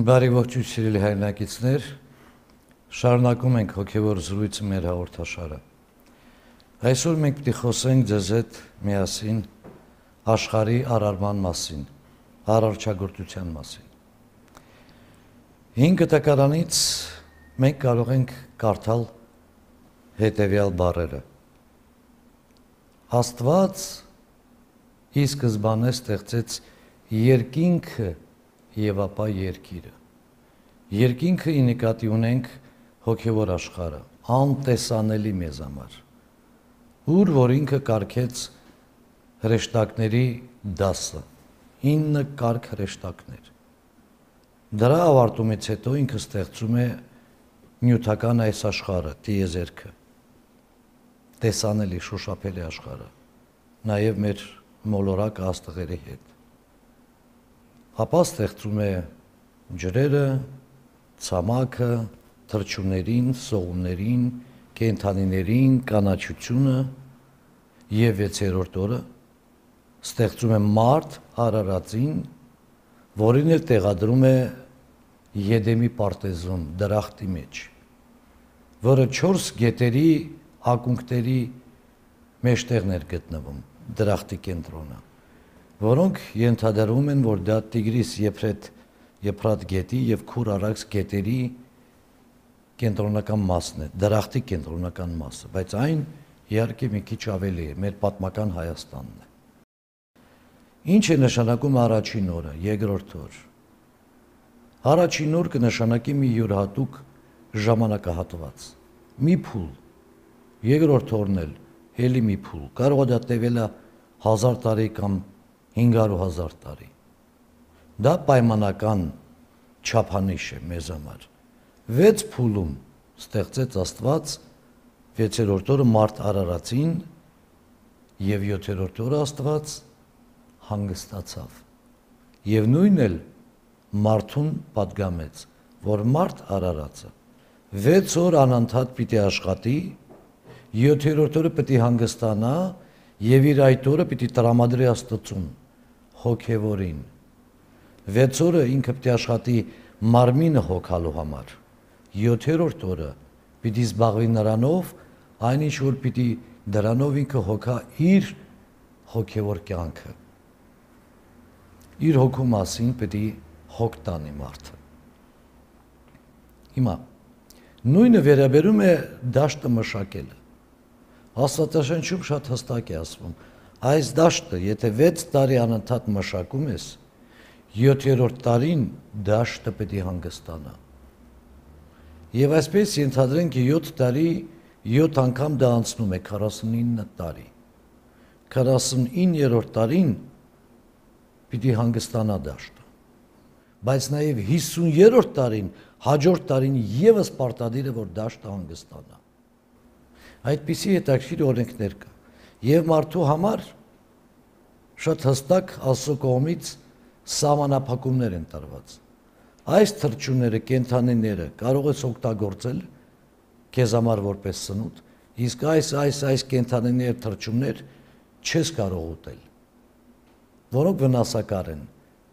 Բարի ողջույն սիրելի հայրենակիցներ, շարունակում ենք հոգևոր զրույցը մեր հաղորդաշարը։ Այսօր մենք պիտի խոսենք ձեզ հետ միասին աշխարհի արարման մասին, արարչագործության մասին։ 5 տակարանից մենք կարող ենք կարդալ հետևյալ բառերը. Աստված ի սկզբանե ստեղծեց երկինքը եւ ապա երկիրը։ Երկինքը ի նկատի ունենք հոգևոր աշխարհը, անտեսանելի մեզ համար, ուր որ ինքը կարգեց հրեշտակների դասը, 9 կարգ հրեշտակներ։ Դրա ավարտումից հետո ինքը ստեղծում է նյութական այս աշխարհը, տիեզերքը, տեսանելի, շոշափելի աշխարհը, նաև մեր մոլորակ աստղերի հետ։ Ապա ստեղծում է ջրերը, ցամաքը, թռչուններին, սողուններին, կենդանիներին, կանաչությունը եւ 6-րդ օրը ստեղծում է մարդ արարածին, որին էլ տեղադրում է Եդեմի պարտեզում, դրախտի մեջ, որը 4 գետերի ակունքների մեջտեղն էր գտնվում, դրախտի կենտրոնը, որոնք ենթադրում են, որ դա Տիգրիս Եփրատ գետի եւ Քուր Արաքս գետերի կենտրոնական մասն է, դրախտի կենտրոնական մասը, բայց այն իհարկե մի քիչ ավելի է, մեր պատմական Հայաստանն է։ Ինչ է նշանակում առաջին օրը, երկրորդ օր։ Առաջին օր կնշանակի մի յուրահատուկ ժամանակահատված, մի փուլ, երկրորդ օրն էլ էլի մի փուլ, կարող է դա տևել 1000 տարի կամ 500,000 տարի։ Դա պայմանական չափանիշ է մեզ համար։ 6 փուլում ստեղծեց Աստված 6-րդ օրը մարդ արարածին եւ 7-րդ օրը Աստված հանգստացավ։ Եվ նույնն էլ մարդուն պատգամեց, որ մարդ արարածը 6 օր անընդհատ պիտի աշխատի, 7-րդ օրը պիտի հանգստանա եւ իր այդ օրը պիտի տրամադրի Աստծուն, հոգևորին։ 6 օրը ինքը պիտի աշխատի մարմինը հոգալու համար, 7-րդ օրը պիտի զբաղվի նրանով, այնինչ որ պիտի դրանով ինքը հոգա իր հոգևոր կյանքը։ Իր հոգու մասին պիտի հոգ տանի մարդը։ Հիմա նույնը վերաբերում է դաշտը մշակելը։ Աստվածաշնչում շատ հստակ է ասվում, այս դաշտը, եթե 6 տարի անընդհատ մշակում ես, 7-րդ տարին դաշտը պետք է հանգստանա։ Եվ այսպես ենթադրենք 7 տարի 7 անգամ դա անցնում է 49 տարի։ 49-րդ տարին պիտի հանգստանա դաշտը։ Բայց նաև 50-րդ տարին, հաջորդ տարին եւս պարտադիր է, որ դաշտը հանգստանա։ Այդպիսի հետաքրքիր օրենքներ կա։ Եվ մարդու համար շատ հստակ Աստծո կողմից սահմանափակումներ են տրված։ Այս թռչունները, կենդանիները կարող ես օգտագործել քեզ համար որպես սնունդ, իսկ այս կենդանիներ, թռչուններ չես կարող ուտել, որոնք վնասակար են,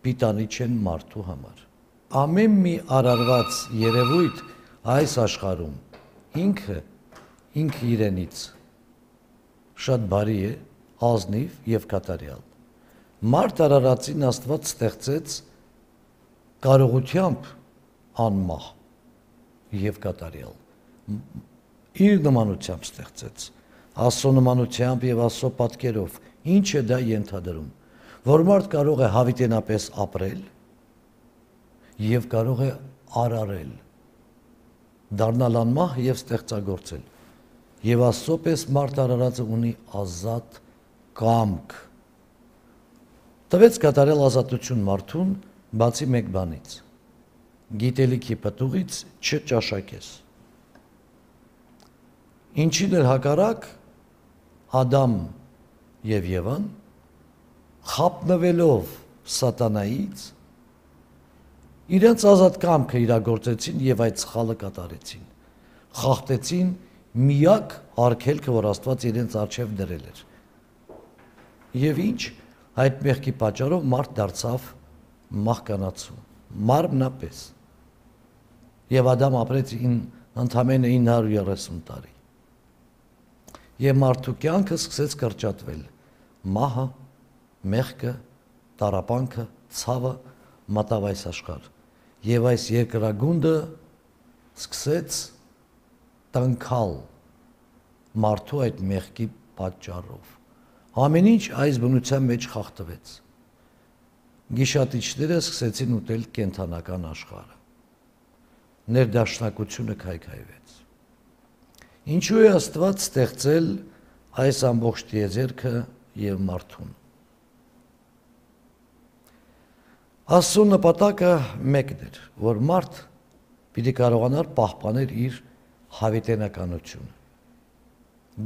պիտանի չեն մարդու համար։ Ամեն մի արարված երևույթ այս աշխարհում ինքը իրենից շատ բարի է, ազնիվ եւ կատարյալ։ Մարդ արարածին Աստված ստեղծեց կարողությամբ անմահ եւ կատարյալ։ Իր նմանությամբ ստեղծեց, Աստծո նմանությամբ եւ Աստծո պատկերով։ Ինչ է դա ենթադրում, որ մարդ կարող է հավիտենապես ապրել եւ կարող է արարել, դառնալ անմահ եւ ստեղծագործել։ Եվ Աստծո պես մարդ արարածը ունի ազատ կամք։ Տվեց կատարել ազատություն մարդուն, բացի մեկ բանից՝ գիտելիքի պտուղից չճաշակես։ Ինչին էր հակառակ Ադամ եւ Եվան, խապնվելով սատանայից, իրենց ազատ կամքը իրագործեցին եւ այդ սխալը կատարեցին։ Խախտեցին միակ արգելքը, որ Աստված իրենց առջև դրել էր։ Եվ ինչ, այդ մեղքի պատճառով մարդ դարձավ մահկանացու, մարմնապես, Եվ Ադամ ապրեց ընդամենը 930 տարի։ Եվ մարդու կյանքը սկսեց կրճատվել։ Մահը, մեղքը, տառապանքը, ցավը մտավ այս աշխարհ։ Եվ այս երկրագունդը սկսեց տնքալ մարդու այդ մեղքի պատճառով։ Ամեն ինչ այս բնության մեջ խախտվեց։ Գիշատիչները սկսեցին ուտել կենդանական աշխարհը։ Ներդաշնակությունը քայքայվեց։ Ինչու է Աստված ստեղծել այս ամբողջ տիեզերքը եւ մարդուն։ Աստծո նպատակը մեկն էր, որ մարդ պիտի կարողանար պահպանել իր հավիտենականությունը։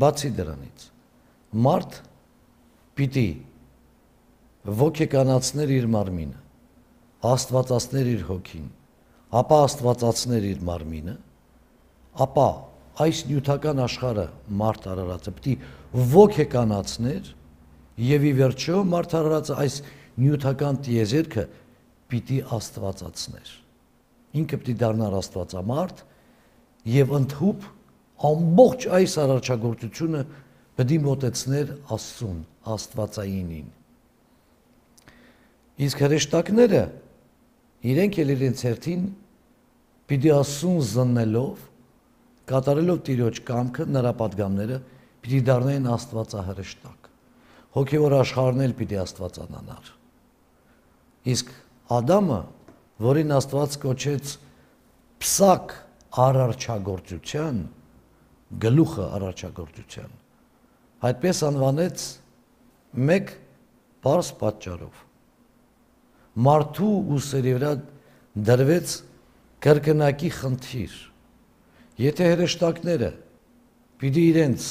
Բացի դրանից, մարդ պիտի ոգեկանացներ իր մարմինը, աստվածացներ իր հոգին, ապա աստվածացներ իր մարմինը, ապա այս նյութական աշխարհը մարդ արարածը պիտի ոգեկանացներ եւ ի վերջո մարդ արարածը այս նյութական տիեզերքը պիտի աստվածացներ։ Ինքը պիտի դառնար աստվածամարդ եւ ընդհուպ ամբողջ այս արարչագործությունը պիտի մոտեցներ Աստծուն, Աստվածայինին։ Իսկ հրեշտակները իրենք էլ իրենց հերթին պիտի Աստծուն զննելով, կատարելով Տիրոջ կամքը, նրա պատգամները, պիտի դառնային Աստվածահրեշտակ։ Հոգևոր աշխարհն էլ պիտի աստվածանանար։ Իսկ Ադամը, որին Աստված կոչեց փսակ արարչագործության, գլուխը արարչագործության, այդպես անվանեց մեկ բարձ պատճառով։ Մարդու ուսերի վրա դրվեց կրկնակի խնդիր։ Եթե հրեշտակները պիտի իրենց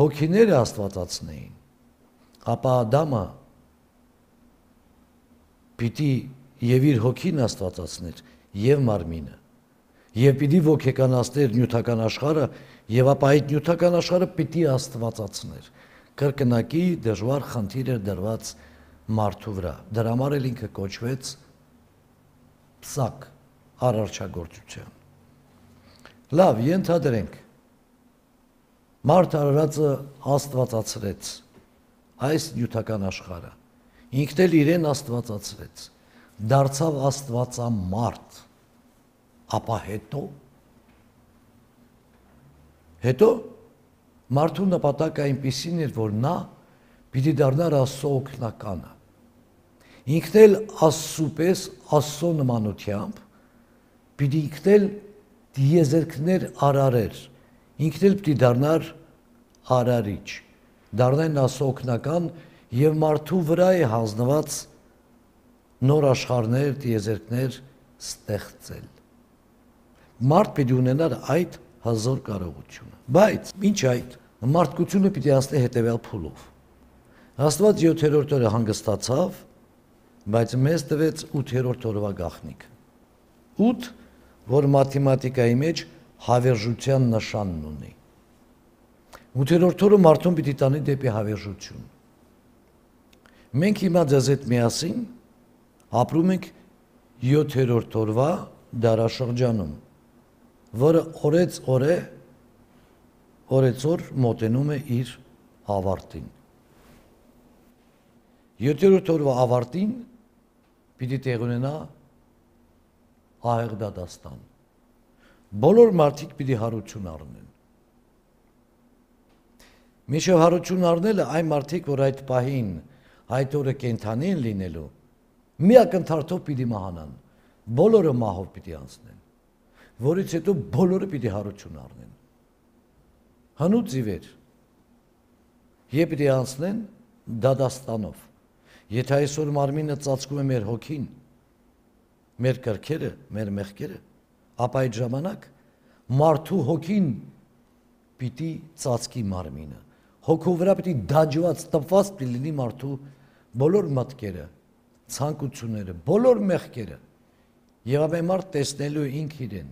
հոգիները աստվածացնեին, ապա Ադամը պիտի եւ իր հոգին աստվածացներ եւ մարմինը, եւ պիտի ոգեկանացներ նյութական աշխարհը, եւ ապա այդ նյութական աշխարհը պիտի աստվածացներ։ Կրկնակի դժվար խնդիր էր դրված մարդու վրա։ Դրա համար էլ ինքը կոչվեց փսակ արարչագործության։ Լավ, ենթադրենք մարդ արարածը աստվածացրեց այս նյութական աշխարհը, ինքն էլ իրեն աստվածացրեց, դարձավ աստվածամարդ, ապա հետո մարդու նպատակը այնպիսին էր, որ նա պիտի դառնար Աստծո օգնականը, ինքն էլ Աստծու պես, Աստծո նմանությամբ, պիտի ինքն էլ տիեզերքներ արարեր, ինքն էլ պիտի դառնար արարիչ, դառնային Աստծո օգնական եւ մարդու վրա է հանձնված նոր աշխարհներ, տիեզերքներ ստեղծել։ Մարդ պիտի ունենար այդ հզոր կարողությունը։ Բայց ինչ այդ, մարդկությունը պիտի անցնի հետևյալ փուլով։ Աստված 7-րդ օրը հանգստացավ, բայց մեզ տվեց 8-րդ օրվա գաղտնիք։ 8, որ մաթեմատիկայի մեջ հավերժության նշանն ունի։ 8-րդ օրը մարդուն պիտի տանի դեպի հավերժություն։ Մենք հիմա ձեզ հետ միասին ապրում ենք 7-րդ օրվա դարաշրջանում, որը օրեցօր մոտենում է իր ավարտին։ 7-րդ օրվա ավարտին պիտի տեղ ունենա ահեղ դատաստան։ Բոլոր մարդիկ պիտի հարություն առնեն։ Մինչև հարություն առնելը այն մարդիկ, որ այդ պահին այդ օրը կենդանի են լինելու, մի ակնթարթով պիտի մահանան, բոլորը մահով պիտի անցնեն, որից հետո բոլորը պիտի հարություն առնեն։ Հնուց ի վեր, եւ պիտի անցնեն դատաստանով։ Եթե այսօր մարմինը ծածկում է մեր հոգին, մեր կրքերը, մեր մեղքերը, ապա այդ ժամանակ մարդու հոգին պիտի ծածկի մարմինը։ Հոգու վրա պիտի դաջված, տպված պիտի լինի մարդու բոլոր մտքերը, ցանկությունները, բոլոր մեղքերը։ Եվ ապա մարդ տեսնելու ինք իրեն,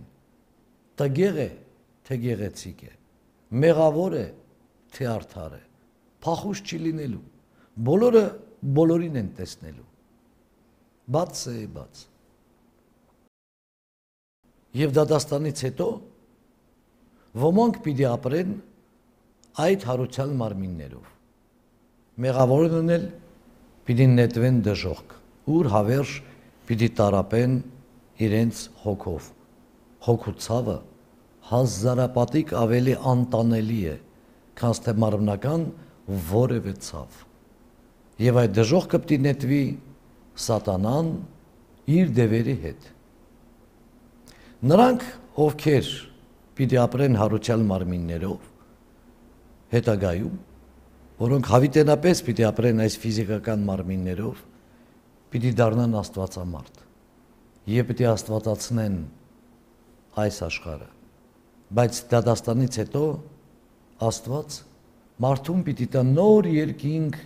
տգեղ է, թե գեղեցիկ է, մեղավոր է, թե արդար է, փախուստ չի լինելու, բոլորը բոլորին են տեսնելու, բաց է բաց։ Եվ դատաստանից հետո ոմանք պիտի ապրեն այդ հարության մարմիններով։ Մեղավորներն էլ պիտի նետվեն դժոխք, ուր հավերժ պիտի տարապեն իրենց հոգով։ Հոգու ցավը հազարապատիկ ավելի անտանելի է, քան թե մարմնական որևէ ցավ։ Եվ այդ դժոխքը պիտի նետվի սատանան իր դևերի հետ։ Նրանք, ովքեր պիտի ապրեն հարության մարմիններով, հետագայում, որոնք հավիտենապես պիտի ապրեն այս ֆիզիկական մարմիններով, պիտի դառնան աստվածամարդ եւ պիտի աստվածացնեն այս աշխարհը։ Բայց դատաստանից հետո Աստված մարդուն պիտի տա նոր երկինք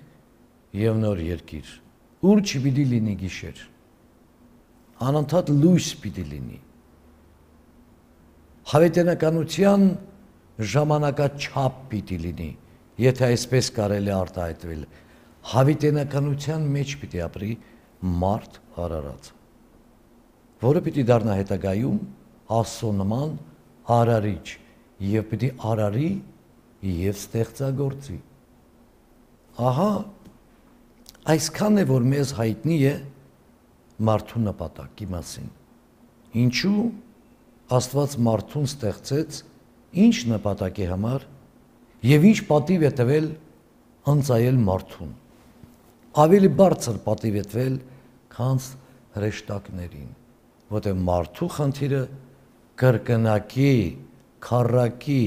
եւ նոր երկիր, ուր չպիտի լինի գիշեր, անընդհատ լույս պիտի լինի։ Հավիտենականության ժամանակաչափ պիտի լինի, եթե այսպես կարելի արտահայտվել, հավիտենականության մեջ պիտի ապրի մարդ արարած, որը պիտի դառնա հետագայում Աստծո նման արարիչ եւ պիտի արարի եւ ստեղծագործի։ Ահա այսքան է, որ մեզ հայտնի է մարդու նպատակի մասին։ Ինչու Աստված մարդուն ստեղծեց, ինչ նպատակի համար եւ ինչ պատիվ է տվել անցայել մարդուն։ Ավելի բարձր պատիվ է տվել, քան հրեշտակներին, որտեղ մարդու խնդիրը կրկնակի, քառակի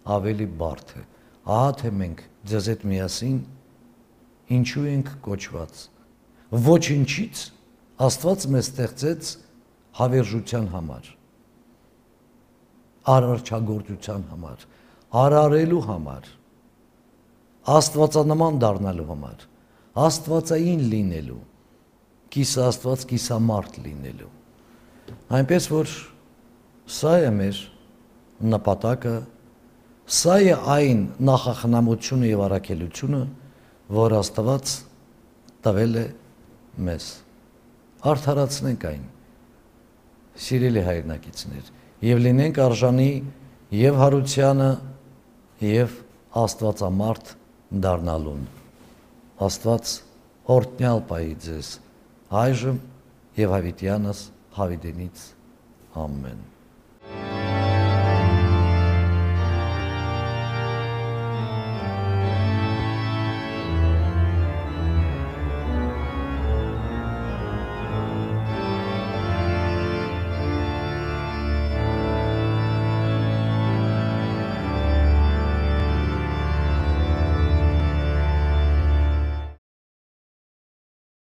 ավելի բարդ է։ Ահա թե մենք ձեզ հետ միասին ինչու ենք կոչված։ Ոչինչից Աստված մեզ ստեղծեց հավերժության համար, արարչագործության համար, արարելու համար, աստվածանման դառնալու համար, աստվածային լինելու, կիսաստված, կիսամարդ լինելու։ Այնպես որ սա է մեր նպատակը, սա է այն նախախնամությունը եւ առաքելությունը, որ Աստված տվել է մեզ։ Արդարացնենք այն, սիրելի հայրենակիցներ, եւ լինենք արժանի եւ հարությանը եւ աստվածամարդ դառնալուն։ Աստված օրհնյալ պահի ձեզ այժմ եւ հավիտյանս հավիտենից ամեն։